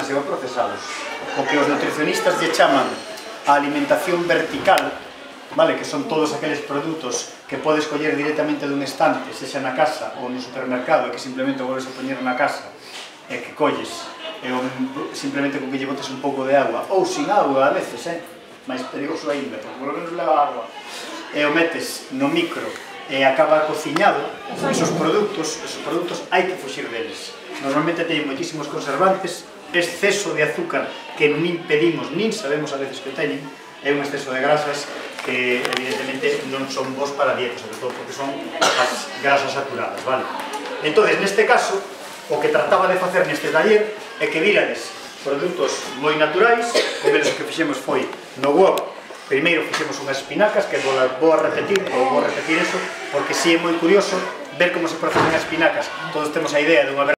demasiado procesados. O que os nutricionistas lle chaman a alimentación vertical, vale, que son todos aqueles produtos que podes coller directamente dun estante, sexa na casa ou no supermercado, e que simplemente volves a poñer na casa, e que colles, e simplemente con que lle botes un pouco de agua, ou sin agua a veces, máis perigoso aínda, porque polo menos leva agua, e o metes no micro e acaba cociñado, esos produtos hai que fuxir deles. Normalmente teñen moitísimos conservantes, exceso de azúcar que nin pedimos, nin sabemos a veces que teñen, é un exceso de grasas que evidentemente non son bons para a dieta, sobre todo porque son as grasas saturadas, vale? Entón, neste caso, o que trataba de facer neste taller é que virades produtos moi naturais, como eles que fixemos foi no wok. Primeiro fixemos unhas espinacas, que vou a repetir eso, porque si é moi curioso ver como se proceden as espinacas. Todos temos a idea dunha